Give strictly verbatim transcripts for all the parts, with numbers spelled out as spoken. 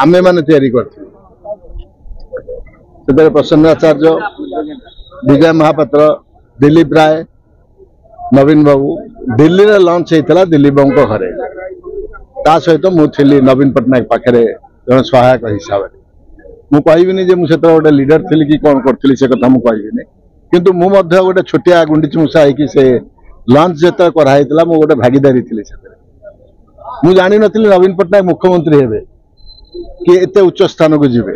ଆମେମାନେ ତିଆରି କରିଥିଲୁ। ସେଥିରେ ପ୍ରସନ୍ନ ଆଚାର୍ଯ୍ୟ, ବିଜୟ ମହାପାତ୍ର, ଦିଲ୍ଲୀପ ରାୟ, ନବୀନ ବାବୁ। ଦିଲ୍ଲୀରେ ଲଞ୍ଚ ହେଇଥିଲା ଦିଲ୍ଲୀପ ବାବୁଙ୍କ ଘରେ। ତା ସହିତ ମୁଁ ଥିଲି ନବୀନ ପଟ୍ଟନାୟକ ପାଖରେ ଜଣେ ସହାୟକ ହିସାବରେ। ମୁଁ କହିବିନି ଯେ ମୁଁ ସେତେବେଳେ ଗୋଟେ ଲିଡର ଥିଲି କି କ'ଣ କରିଥିଲି, ସେ କଥା ମୁଁ କହିବିନି। କିନ୍ତୁ ମୁଁ ମଧ୍ୟ ଗୋଟେ ଛୋଟିଆ ଗୁଣ୍ଡିଚି ମୂଷା ହେଇକି ସେ ଲଞ୍ଚ ଯେତେବେଳେ କରାହେଇଥିଲା, ମୁଁ ଗୋଟେ ଭାଗିଦାରୀ ଥିଲି ସେଥିରେ। ମୁଁ ଜାଣିନଥିଲି ନବୀନ ପଟ୍ଟନାୟକ ମୁଖ୍ୟମନ୍ତ୍ରୀ ହେବେ କି ଏତେ ଉଚ୍ଚ ସ୍ଥାନକୁ ଯିବେ।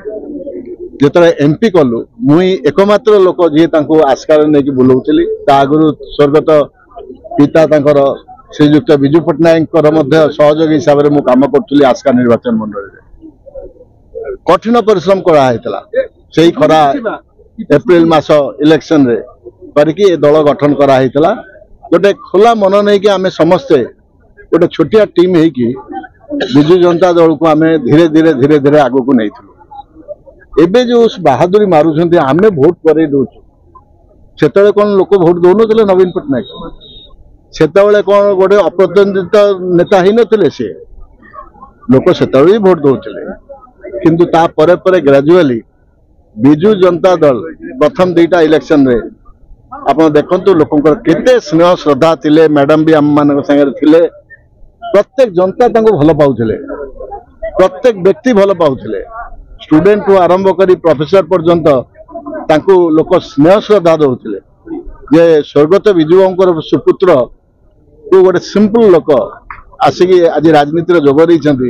ଯେତେବେଳେ ଏମପି କଲୁ, ମୁଁ ଏକମାତ୍ର ଲୋକ ଯିଏ ତାଙ୍କୁ ଆସ୍କାରେ ନେଇକି ବୁଲଉଥିଲି। ତା ଆଗରୁ ସ୍ୱର୍ଗତ ପିତା ତାଙ୍କର ଶ୍ରୀଯୁକ୍ତ ବିଜୁ ପଟ୍ଟନାୟକଙ୍କର ମଧ୍ୟ ସହଯୋଗୀ ହିସାବରେ ମୁଁ କାମ କରୁଥିଲି ଆସ୍କା ନିର୍ବାଚନ ମଣ୍ଡଳୀରେ। କଠିନ ପରିଶ୍ରମ କରାହେଇଥିଲା ସେଇ ଖରା ଏପ୍ରିଲ ମାସ ଇଲେକ୍ସନରେ କରିକି ଏ ଦଳ ଗଠନ କରାହେଇଥିଲା। ଗୋଟେ ଖୋଲା ମନ ନେଇକି ଆମେ ସମସ୍ତେ ଗୋଟେ ଛୋଟିଆ ଟିମ୍ ହେଇକି ବିଜୁ ଜନତା ଦଳକୁ ଆମେ ଧୀରେ ଧୀରେ ଧୀରେ ଧୀରେ ଆଗକୁ ନେଇଥିଲୁ। ଏବେ ଯୋଉ ବାହାଦୁରୀ ମାରୁଛନ୍ତି, ଆମେ ଭୋଟ କରେଇ ଦଉଛୁ, ସେତେବେଳେ କଣ ଲୋକ ଭୋଟ ଦଉନଥିଲେ ନବୀନ ପଟ୍ଟନାୟକ? ସେତେବେଳେ କଣ ଗୋଟେ ଅପ୍ରତିଦ୍ୱନ୍ଦିତ ନେତା ହେଇନଥିଲେ ସିଏ? ଲୋକ ସେତେବେଳେ ବି ଭୋଟ ଦଉଥିଲେ। କିନ୍ତୁ ତା ପରେ ପରେ ଗ୍ରାଜୁଆଲି ବିଜୁ ଜନତା ଦଳ ପ୍ରଥମ ଦିଟା ଇଲେକ୍ସନରେ ଆପଣ ଦେଖନ୍ତୁ, ଲୋକଙ୍କର କେତେ ସ୍ନେହ ଶ୍ରଦ୍ଧା ଥିଲେ। ମ୍ୟାଡାମ ବି ଆମମାନଙ୍କ ସାଙ୍ଗରେ ଥିଲେ। ପ୍ରତ୍ୟେକ ଜନତା ତାଙ୍କୁ ଭଲ ପାଉଥିଲେ, ପ୍ରତ୍ୟେକ ବ୍ୟକ୍ତି ଭଲ ପାଉଥିଲେ। ଷ୍ଟୁଡେଣ୍ଟଠୁ ଆରମ୍ଭ କରି ପ୍ରଫେସର ପର୍ଯ୍ୟନ୍ତ ତାଙ୍କୁ ଲୋକ ସ୍ନେହ ଶ୍ରଦ୍ଧା ଦଉଥିଲେ ଯେ ସ୍ୱର୍ଗତ ବିଜୁ ବାବୁଙ୍କର ସୁପୁତ୍ର କୁ ଗୋଟେ ସିମ୍ପଲ ଲୋକ ଆସିକି ଆଜି ରାଜନୀତିରେ ଯୋଗ ଦେଇଛନ୍ତି।